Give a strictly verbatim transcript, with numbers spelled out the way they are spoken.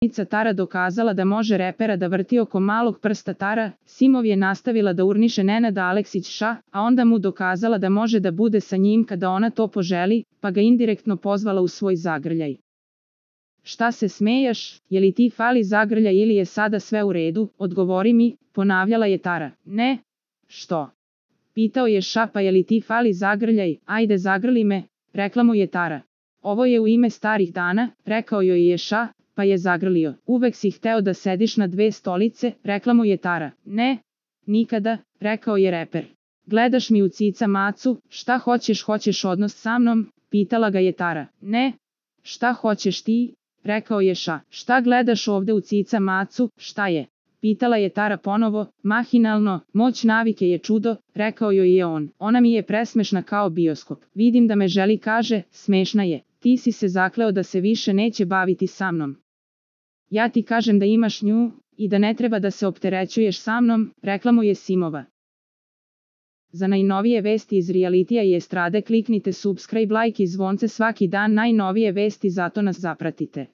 Tara dokazala da može repera da vrti oko malog prsta Tara, Simov je nastavila da urniše Nenada Aleksića, a onda mu dokazala da može da bude sa njim kada ona to poželi, pa ga indirektno pozvala u svoj zagrljaj. Šta se smejaš, je li ti fali zagrljaj ili je sada sve u redu, odgovori mi, ponavljala je Tara. Ne. Što? Pitao je Ša, pa je li ti fali zagrljaj, ajde zagrli me, rekla mu je Tara. Ovo je u ime starih dana, rekao joj je Ša, pa je zagrlio. Uvek si hteo da sediš na dve stolice, rekla mu je Tara. Ne, nikada, rekao je reper. Gledaš mi u cica macu, šta hoćeš, hoćeš odnos sa mnom, pitala ga je Tara. Ne, šta hoćeš ti, rekao je Ša. Šta gledaš ovde u cica macu, šta je? Pitala je Tara ponovo, mahinalno, moć navike je čudo, rekao joj je on. Ona mi je presmešna kao bioskop. Vidim da me želi, kaže, smešna je. Ti si se zakleo da se više neće baviti sa mnom. Ja ti kažem da imaš nju i da ne treba da se opterećuješ sa mnom, rekla mu je Simova. Za najnovije vesti iz realitija i estrade kliknite subscribe, like i zvonce svaki dan, najnovije vesti, zato nas zapratite.